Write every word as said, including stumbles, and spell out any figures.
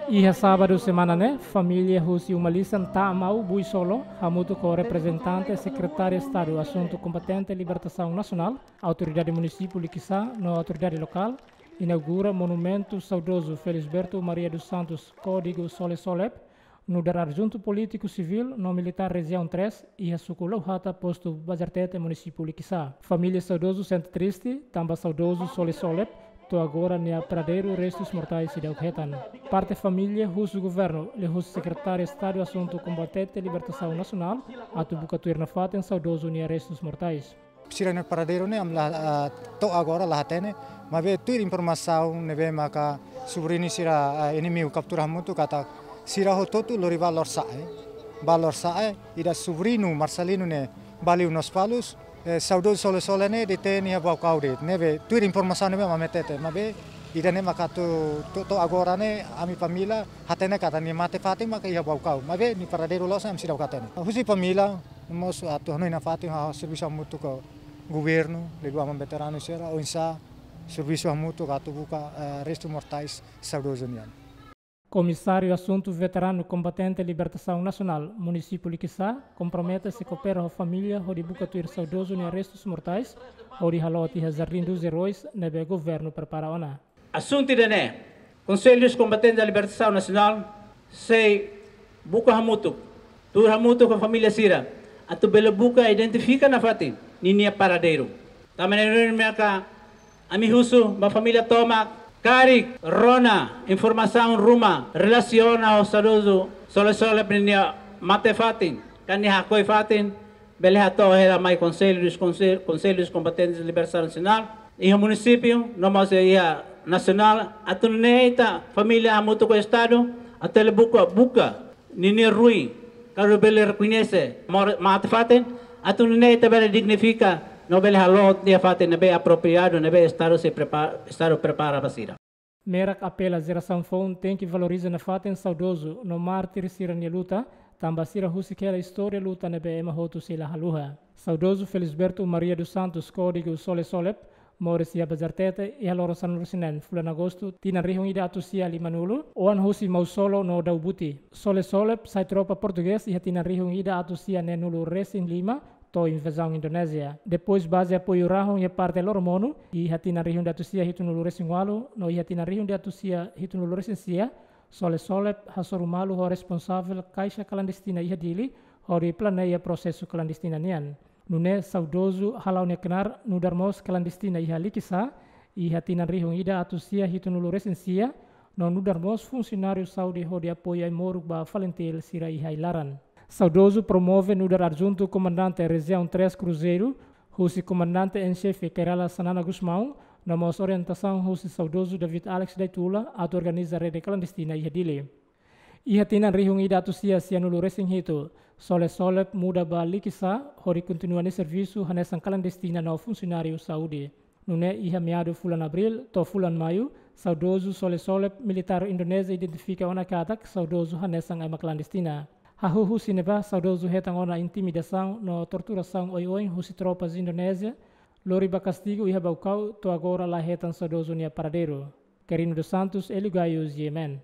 Iha sábadu semana ne'e, família husi uma lisan Tamau Buisolo, hamutuk ho reprezentante Sekretáriu Estadu Asuntu Kombatente Libertasaun Nasionál, Autoridade Munisípiu Likisá no autoridade lokál, inaugura monumentu saudozu Felisberto Maria dos Santos Código Sole Solep, nu'udar adjuntu polítiku sivíl no militár Rejiaun três, iha suku Lauhata, postu Bazartete, munisípiu Likisá. Família saudozu sente triste, tanba saudozu Sole Solep, to'o agora nia paradeiru restus mortais seidauk hetan. Parte família husu governu, liuhusi Sekretáriu Estadu Asuntu Kombatente Libertasaun Nasionál, atu buka tuir nafatin saudozu nia restus mortais. Sira-nia paradeiru ne'e ami la, ah, to'o agora la hatene, maibé tuir informasaun ne'ebé maka subriñu sira, ah, inimigu kaptura hamutuk katak sira hotu-hotu lori ba Lorosa'e. Ba Lorosa'e, ida subriñu Marcelino ne'e ba liu Lospalos, eh, saudozu Sole Solep ne'e detein iha Baucau de'it. Ne'ebé tuir informasaun ne'ebé ami hatene, maibé ida-ne'e maka to'o, to'o, to'o agora ne'e ami família hatene katak nia mate-fatin maka iha Baucau. Maibé nia paradeiru loos ne'e ami seidauk hatene. Husi família, mós atu hanoin nafatin halo servisu hamutuk ho governu, liuliu aman veteranu sira, oinsá servisu hamutuk atu buka, eh, restus mortais saudozu nian. Komisáriu Asuntu Veteranu Kombatente Libertasaun Nasionál, munisípiu Likisá, kompromete sei koopera ho família hodi buka tuir saudozu nia restus mortais, hodi halo tiha Jardim dos Heróis, ne'ebé governu prepara ona. Asuntu ida-ne'e, Konsellu dos Combatentes da Libertação Nacional sei buka hamutuk, tuur hamutuk ho família sira, atu bele buka identifika nafatin ninia paradeiru. Tanba ne'e duni maka ami husu ba família tomak, karik rona informasaun ruma relasiona ho saudozu Sole Solep ninia mate-fatin, ka nia hakoi fatin, bele hato'o hela mai Konsellu dos Konse-, Konsellu dos Combatentes da Libertação Nacional, iha munisípiu, no mós iha nasionál, atu nune'e ita família hamutuk ho Estadu, atu bele buka, buka ninia ruin, karik bele rekoñese mor-, mate-fatin, atu nune'e ita bele dignifika, no bele halo tiha fatin ne'ebé apropriadu, ne'ebé Estadu sei prepa-, Estadu prepara ba sira. Merak apela jerasaun foun tenke valoriza nafatin saudozu no mártir sira-nia luta, tanba sira husik hela istória luta ne'ebé ema hotu sei la haluha. Saudozu Felisberto Maria dos Santos, kódigu Sole Solep, moris iha Bazartete, iha loron sanulu-resin-neen fulan Agostu, tinan rihun ida atus sia limanulu, oan husi Mausolo no Daubuti. Sole Solep sai tropa portugés iha tinan rihun ida atus sia neenulu-resin-lima, to'o invazaun Indonézia. Depois baze apoiu rahun iha parte Loromonu, iha tinan rihun ida atus sia hitunulu-resin-ualu, no iha tinan rihun ida atus sia hitunulu-resin-sia, Sole Solep hasoru malu ho responsavel kaixa klandestina iha Dili, hodi planeia prosesu klandestina nian. Nune'e saudozu hala'o nia knaar nu'udar mós klandestina iha Likisá, iha tinan rihun ida atus sia hitunulu-resin-sia, no nu'udar mós funsionáriu saúde hodi apoiu ai-moruk ba FALINTIL sira iha ai-laran. Saudozu promove nu'udar adjuntu komandante Rejiaun três Kruzeiru, husi komandante en xefe Kay Rala Xanana Gusmão, no mós orientasaun husi saudozu David Alex Daitula atu organiza rede klandestina iha Dili. Iha tinan rihun ida atus sia sianulu-resin-hitu, Sole Solep muda ba Likisá, hodi kontinua nia servisu hanesan klandestina no funsionáriu saúde. Nune'e iha meadu fulan Abríl to'o fulan Maiu, saudozu Sole Solep, militár Indonézia identifika ona katak saudozu hanesan ema klandestina. Hahú husi ne'ebá saudozu hetan ona intimidasaun no torturasaun oioin husi tropas Indonézia, lori ba kastigu iha Baucau, to'o agora la hetan saudozu nia paradeiru. Quirino dos Santos, Hélio Gaio, G M N.